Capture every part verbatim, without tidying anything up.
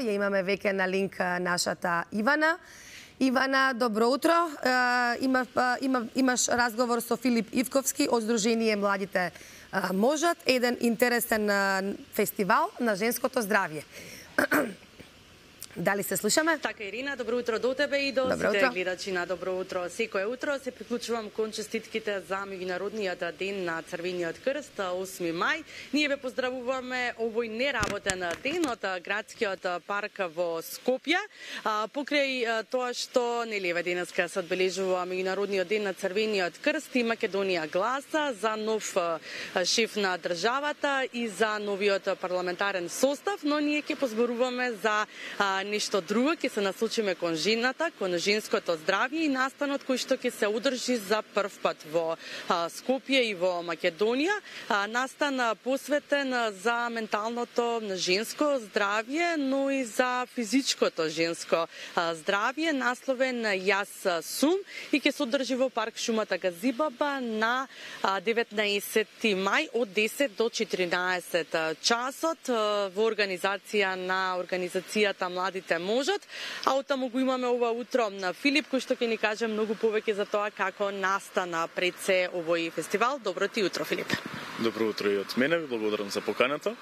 Ја имаме веќе на линк нашата Ивана. Ивана, добро утро. Има, има, имаш разговор со Филип Ивковски од Сдружение Младите можат, еден интересен фестивал на женското здравје. Дали се слушаме? Така, Ирина, добро утро до тебе и до добро сите утро. гледачи на Добро утро. Секое утро се приклучувам кон честитките за меѓународниот ден на Црвениот крст, осми мај. Ние ве поздравуваме овој неработен ден од градскиот парк во Скопје. Покрај тоа што нели еве денеска се одбележува меѓународниот ден на Црвениот крст и Македонија гласа за нов шеф на државата и за новиот парламентарен состав, но ние ќе позборуваме за нешто друго, ќе се насочиме кон жената, кон женското здравје и настанот кој што ќе се одржи за прв пат во Скопје и во Македонија. Настан посветен за менталното женско здравје, но и за физичкото женско здравје, насловен Јас сум, и ќе се одржи во парк Шумата Газибаба на деветнаесети мај од десет до четиринаесет часот во организација на организацијата Младите можат, а оттаму го имаме ова утро на Филип, кој што ќе ни каже многу повеќе за тоа како настана пред се овој фестивал. Добро ти утро, Филип. Добро утро и од мене, ви благодарам за поканата.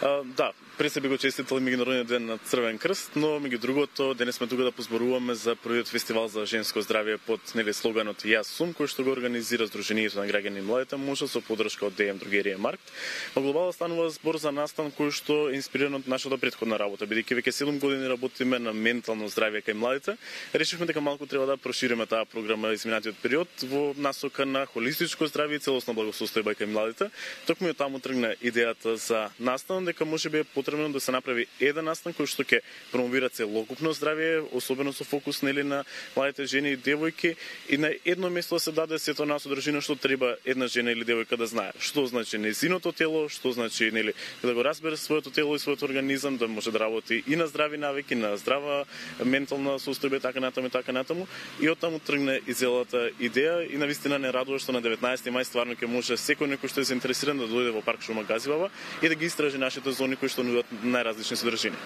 А, да, пред се би го честитали меѓународниот ден на Црвен крст, но меѓу другото денес сме тука да позборуваме за првиот фестивал за женско здравје под нели слоганот Јас сум, кој што го организира Сдруженијето на граѓани Младите можат со подршка од Д М Другерија Маркт. Во глобално станува збор за настан кој што е инспириран од нашата претходна работа, бидејќи веќе седум години работиме на ментално здравје кај младите. Решивме дека малку треба да прошириме таа програма изминатиот период во насока на холистичко здравје и целосна благосостојба кај младите. Токму од таму тргна идејата за настан, дека можеби е потребно да се направи еден настан кој што ќе промовира целокупно здравје, особено со фокус нели на младите жени и девојки, и на едно место да се даде сето на содржина што треба една жена или девојка да знае. Што значи нејзиното тело, што значи нели да го разбере своето тело и својот организам, да може да работи и на здрави навики, на здрава ментална состојба, така натаму и така натаму. И оттаму тргна и целата идеја, и навистина не радува што на деветнаесети мај стварно ќе може секој некој што е заинтересиран да дојде во парк Шума Газибаба и да ги истражи нашите зони кои што нудат најразлични содржини.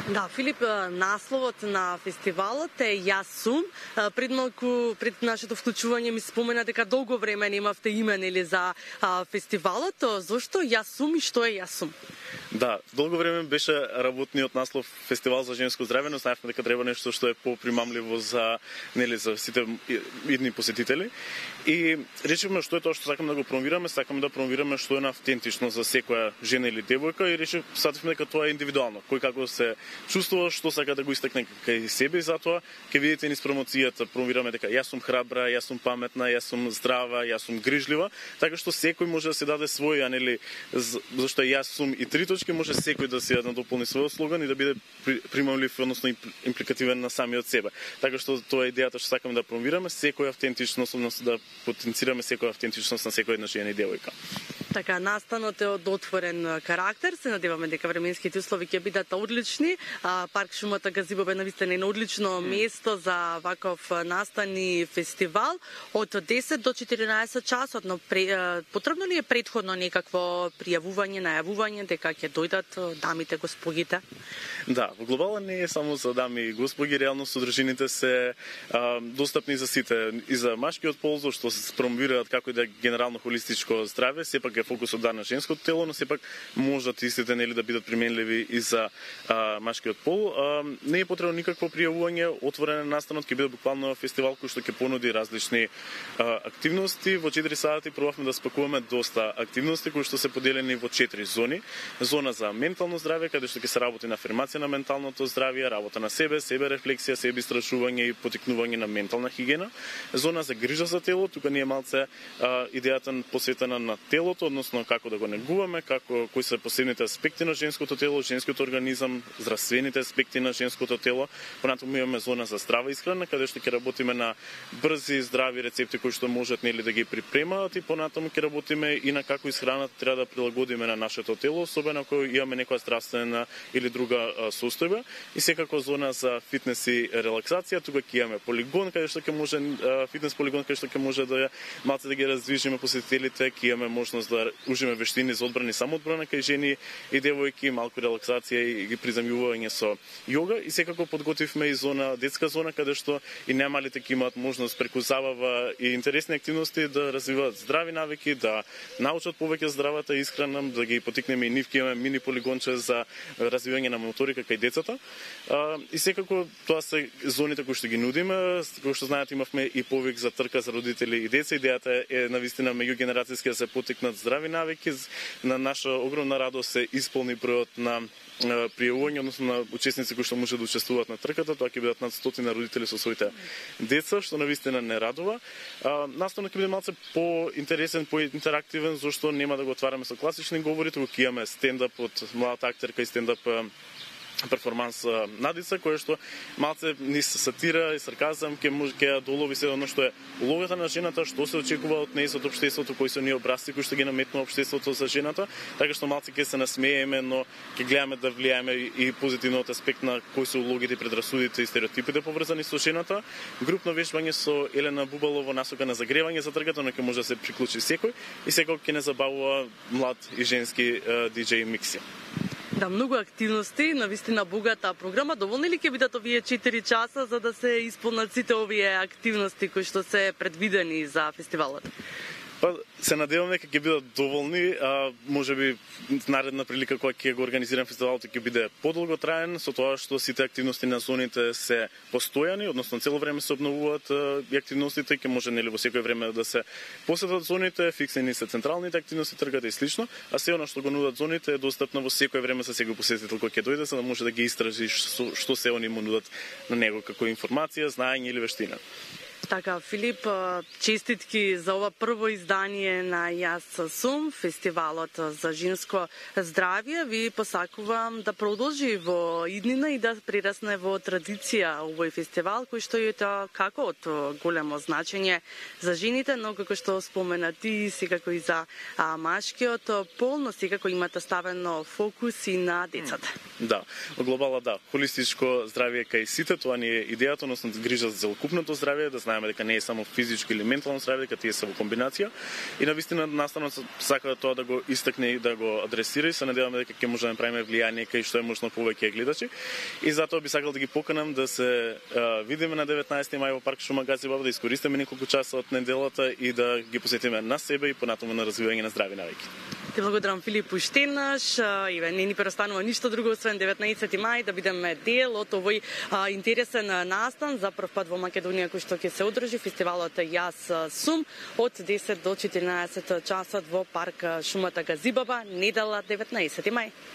Да, Филип, насловот на фестивалот е Јас сум. Пред малку, пред нашето вклучување ми спомена дека долго време немавте име нели за а, фестивалот. Зошто Јас сум и што е Јас сум? Да, долго време беше работниот наслов Фестивал за женско здравје, но знаевме дека треба нешто што е попримамливо за нели за сите идни посетители. И решивме што е тоа што сакаме да го промовираме, сакаме да промовираме што е автентично за секоја жена или девојка, и решив сативме дека тоа е индивидуално. Кој како се чувствува, што сака да го истакне кај себе, и затоа ќе видите низ промоцијата промовираме дека јас сум храбра, јас сум паметна, јас сум здрава, јас сум грижлива, така што секој може да се даде свој, а нели зашто јас сум и три точки, може секој да се надополни својот слоган и да биде примамлив, односно импликативен на самиот себе. Така што тоа е идејата што сакаме да промовираме, секоја автентичност, односно да потенцираме секоја автентичност на секоја една жена и девојка. Така, настанот е од отворен карактер. Се надеваме дека временските услови ќе бидат одлични. А, парк Шумата Газибаба е навистина едно одлично место за ваков настан и фестивал од десет до четиринаесет часот, но пре, потребно ли е претходно некакво пријавување, најавување дека ќе дојдат дамите, господите? Да, во глобала не е само за дами и господи, реално содржините се а, достапни за сите, и за машкиот пол, што се промовираат како и да генерално холистичко здравје, сепак е фокусот да на женското тело, но сепак можат истите нели да бидат применливи и за а, машкиот пол. А, не е потребно никакво пријавување, отворен настанот, ќе биде буквално фестивал кој што ќе понуди различни а, активности. Во четири сати пробавме да спакуваме доста активности кои што се поделени во четири зони. Зона за ментално здравје, каде што ќе се работи на афирмација на менталното здравје, работа на себе, себе рефлексија, себе истражување и потикнување на ментална хигиена. Зона за грижа за тело, тука ни е малце а, идејата посветена на телото, односно како да го негуваме, како кои се посебните аспекти на женското тело, женскиот организам, здравствените аспекти на женското тело. Понатаму имаме зона за здрава исхрана, каде што ќе работиме на брзи здрави рецепти кои што можат нели да ги припремаат, и понатаму ќе работиме и на како исхраната треба да прилагодиме на нашето тело, особено ако имаме некоја здравствена или друга а, состојба. И секако зона за фитнес и релаксација, тука ќе имаме полигон каде што ќе може а, фитнес полигон каде што ќе може да малце да ги раздвижиме посетителите, ќе имаме можност да да ужиме вештини за одбрана и самоодбрана кај жени и девојки, малку релаксација и ги приземјување со јога и секако подготвивме и зона, детска зона каде што и најмалите ќе имаат можност преку забава и интересни активности да развиваат здрави навики, да научат повеќе здравата исхрана, да ги потикнеме и нив, ќе имаме мини полигонче за развивање на моторика кај децата. И секако тоа се зоните кои што ги нудиме, кои што знаете имавме и повик за трка за родители и деца. Идејата е навистина меѓугенерацијски да се потикнат здрави навики. На наша огромна радост се исполни бројот на пријавување, односно на учесници кои што може да учествуваат на трката. Тоа ќе бидат над стотина родители со своите деца, што навистина не радува. Наставно ќе биде малце по-интересен, по-интерактивен, зашто нема да го отвараме со класични говори, туку ќе имаме стендап од младата актерка и стендап перформанс Надица, која што малце низ сатира и сарказам ќе може ќе долови се оно што е улогата на жената, што се очекува од неја од општеството, кои се ние образци кои што ги наметнува општеството за жената, така што малце ќе се насмееме, но ќе гледаме да влијаеме и позитивниот аспект на кои се улогите, предрасудите и стереотипите поврзани со жената. Групно вежбање со Елена Бубалова насока на загревање за трката, но ќе може да се приклучи секој и секој ќе не забавува млад и женски диџеј микси. Да, многу активности, навистина богата програма. Доволни ли ќе бидат овие четири часа за да се исполнат сите овие активности кои што се предвидени за фестивалот? Па, се надеваме дека ќе бидат доволни, а можеби наредна прилика кога ќе го организирам фестивалот ќе биде подолго траен, со тоа што сите активности на зоните се постојани, односно цело време се обновуваат и активностите, ќе може нели во секој време да се посетат зоните, фиксени се централните активности, тргата и слично, а се она што го нудат зоните е достапно во секој време за секој посетител кој ќе дојде, за да може да ги истражи што, што се они му нудат на него како информација, знаење или вештина. Така, Филип, честитки за ова прво издание на Јас сум, фестивалот за женско здравје. Ви посакувам да продолжи во иднина и да прерасне во традиција овој фестивал, кој што е тоа како од големо значење за жените, но како што спомена ти, секако и за а, машкиот пол, но секако имате ставено фокус и на децата. Да, во глобала да, холистичко здравје кај сите, тоа ни е идејата, односно грижа за целокупното здравје, да знаеме дека не е само физичко или ментално здравје, дека тие се во комбинација. И навистина наставно сака тоа да го истакне и да го адресира и се надеваме дека ќе може да направиме влијание кај што е можно повеќе гледачи. И затоа би сакал да ги поканам да се а, видиме на деветнаесети мај во парк Шума Газибаба, да искористиме неколку часа од неделата и да ги посетиме на себе и понатаму на развивање на здрави навики. Ти благодарам, Филип, уште еднаш. Иве, не ни преостанува ништо друго освен деветнаесети мај да бидеме дел од овој а, интересен настан за прв пат во Македонија кој што ќе се одржи фестивалот Јас сум од десет до четиринаесет часот во парк Шумата Газибаба, недела деветнаесети мај.